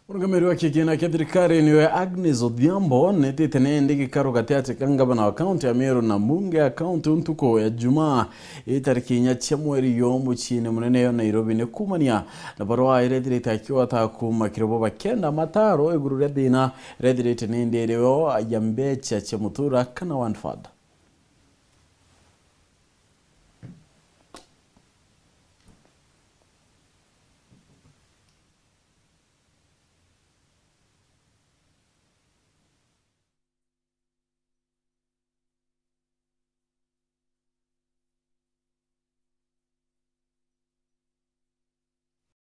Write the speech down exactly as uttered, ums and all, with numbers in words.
Murungamiri wa kigina kia thirikari niwe Agnes Odhiambo netite nindi gikaro gatiati ka ngavana wa kaunti ya Meru na mbunge ya kaunti ntuku ya Jumaa, itariki inya cia mweri yo muciini munene yo Nairobi, ni kumania na barua irethirite akiwata kuma kiri bo bakenda mataro iguru ria thina irethirite nindi irio ya mbecha cia mutura kana one father.